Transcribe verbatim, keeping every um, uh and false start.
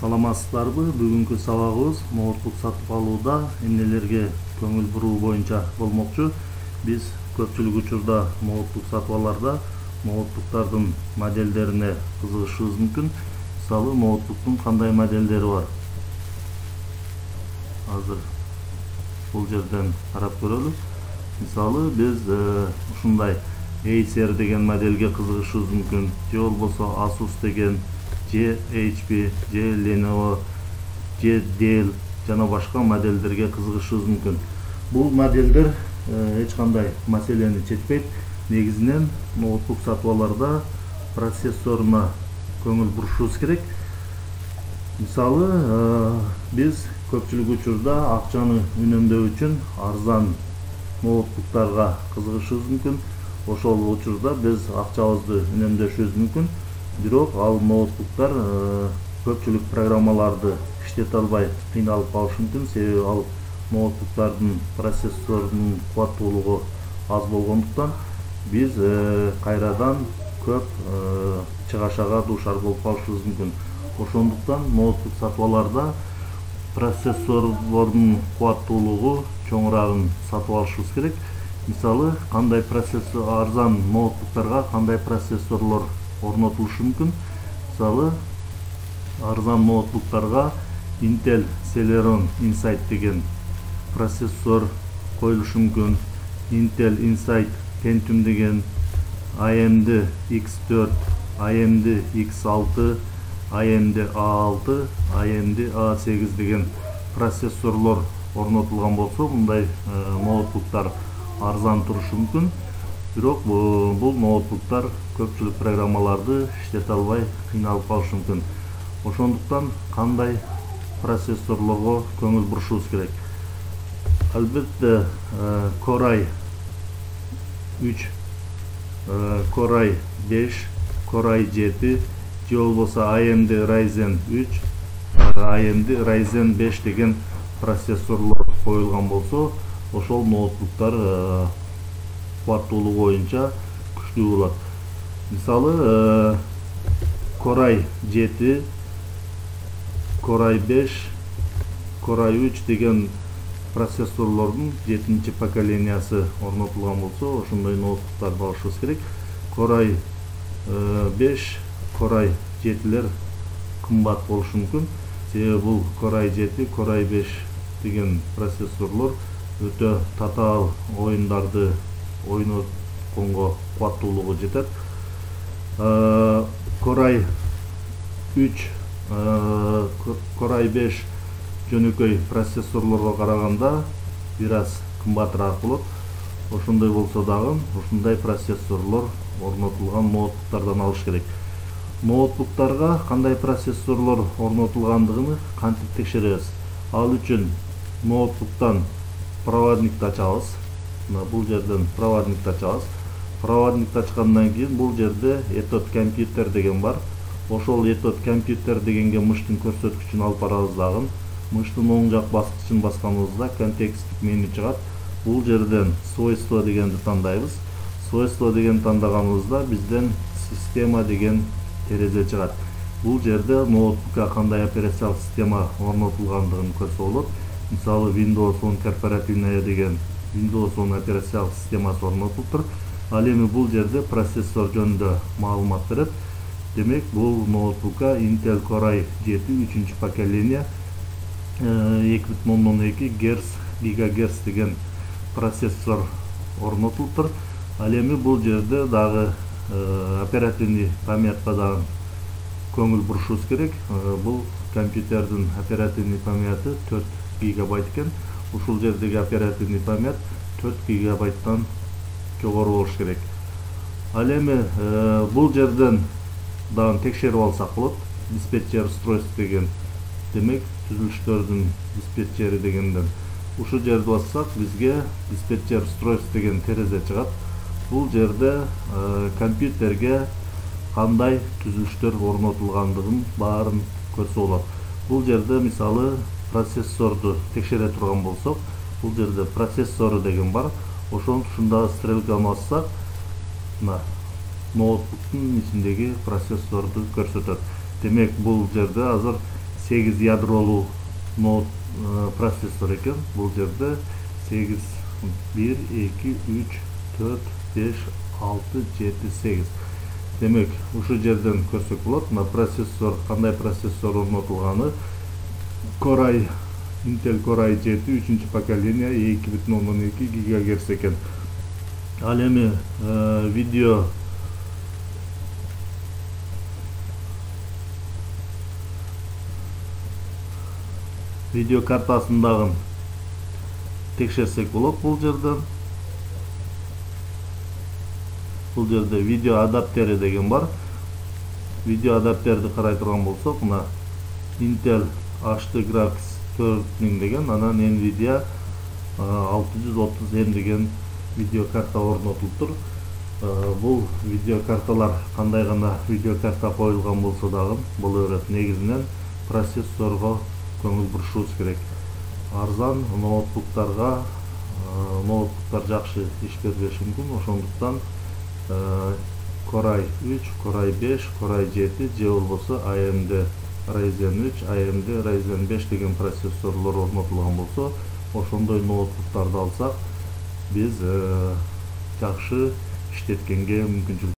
Саламатсыздарбы? Бүгүнкү сабагыбыз ноутбук сатып алууда эмнелерге көңүл буруу боюнча болмокчу. Биз көпчүлүк учурда ноутбук сатып аларда ноутбуктардын моделдерине кызыгышыбыз мүмкүн. Мисалы, ноутбуктун кандай моделдери бар? Азыр бул жерден карап көрөлү. Мисалы, биз ушундай Acer деген моделге кызыгышыбыз мүмкүн. Же болбосо Asus деген, же эйч пи, же Lenovo, же Dell жана башка моделдерге кызыгышыбыз мүмкүн. Бул модельдер эч кандай маселени чечпейт. Негизинен ноутбук сатып аларда процессоруна көңүл бурушубуз керек. Мисалы, биз көпчүлүк учурда акчаны үнөмдөө үчүн арзан ноутбуктарга кызыгышыбыз мүмкүн. Ошол учурда биз акчабызды үнөмдөшүбүз мүмкүн. Бирок ал ноутбуктар көпчүлүк программаларды иштете албай кыйналып калышы мүмкүн. Себеби ал ноутбуктардын процессорунун кубаттуулугу аз болгондуктан биз кайрадан көп чыгашага дуушар болуп калышыбыз мүмкүн. Ошондуктан ноутбук сатып аларда процессорлордун кубаттуулугу чоңураагын сатып алышыбыз керек. Мисалы, кандай процессор арзан ноутбуктарга кандай процессорлор орнотулушу мүмкүн? Мисалы, арзан ноутбуктарга Intel Celeron Insight деген процессор коюлушу мүмкүн. Intel Insight Pentium деген, A M D X төрт, A M D X алты, A M D A алты, A M D A сегиз деген процессорлор орнотулган болсо, мындай ноутбуктар арзан турушу мүмкүн. Бирок бул ноутбуктар көпчүлүк программаларды иштете албай кыйналып калышы мүмкүн. Ошондуктан кандай процессорлорго көңүл бурушубуз керек? Албетте Core i үч, Core i беш, Core i жети, же болбосо A M D Ryzen үч, A M D Ryzen беш деген процессорлор коюлган болсо, ошол ноутбуктар кубаттуулугу боюнча күчтүү болот. Мисалы, Core i жети, Core i беш, Core i үч деген процессорлордун жетинчи поколениясы орнотулган болсо, ошондой ноутбуктарды алышыбыз керек. Core i беш, Core i жетилер кымбат болушу мүмкүн. Себеби бул Core i жети, Core i беш деген процессорлор өтө татаал оюндарды ойнотконго кубаттуулугу жетет. Core i үч, Core i беш жөнөкөй процессорлорго караганда бир аз кымбатыраак болот. Ошондой болсо дагы ушундай процессорлор орнотулган ноутбуктардан алыш керек. Ноутбуктарга кандай процессорлор орнотулгандыгын кантип текшеребиз? Ал үчүн ноутбуктан проводникти ачабыз. Бул жерден проводникти ачабыз. Проводникти ачкандан кийин бул жерде Ethernet компьютер деген бар. Ошол Ethernet компьютер дегенге мыштын көрсөткүчүн алып барабыз дагы. Мыштын оң жак баскычын басканыбызда контексттик меню чыгат. Бул жерден свойство дегенди тандайбыз. Свойство деген тандаганыбызда бизден система деген терезе чыгат. Бул жерде ноутбукка кандай операциялык система орнотулгандыгын көрсө болот. Мисалы, Windows он корпоративная деген Windows он операциялык системасы орнотулуптур. Ал эми бул жерде процессор жөнүндө маалымат берет. Демек, бул ноутбукка Intel Core i жети үчүнчү поколения эки бүтүн ондон эки гигагерц деген процессор орнотулуптур. Ал эми бул жерде дагы оперативный памятка дагы көңүл бурушубуз керек. Бул компьютердин оперативный памяты төрт гигабайт экен. Ушул жердеги оперативный память төрт гигабайттан жогору болуш керек. Ал эми бул жерден дагы текшерип алсак болот. Диспетчер устройств деген, демек түзүлүштөрдүн диспетчери дегенден ушу жерди бассак, бизге диспетчер устройств деген терезе чыгат. Бул жерде компьютерге кандай түзүлүштөр орнотулгандыгын баарын көрсө болот. Бул жерде мисалы процессорду текшере турган болсок, бул жерде процессору деген бар. Ошон ушунда стрелканы бассак, ноутбуктун ичиндеги процессорду көрсөтөт. Демек, бул жерде азыр сегиз ядролуу ноут процессор экен. Бул жерде сегиз бир эки үч төрт беш алты жети сегиз. Демек, ушул жерден көрсөк болот. Мына процессор, кандай процессор орнотулганы. Core i Intel Core i жети үчүнчү поколение эки бүтүн ондон эки гигагерц экен. Ал эми видео видео картасын дагы текшерсек болот бул жерден. Бул жерде видео адаптери деген бар. Видео адаптерди карай турган болсок, мына Intel эйч ди Graphics төрт миң деген, анан Nvidia алты жүз отуз эм деген видео карта орнотулуптур. Бул видео карталар кандай гана видео карта коюлган болсо дагы боло берет. Негизинен процессорго көңүл бурушубуз керек. Арзан ноутбуктарга ноутбуктар жакшы иш бербеши мүмкүн. Ошондуктан Core i үч, Core i беш, Core i жети же болбосо A M D Ryzen үч, A M D Ryzen беш деген процессорлор орнотулган болсо, ошондой ноутбуктарды алсак, биз жакшы иштеткенге мүмкүнчүлүк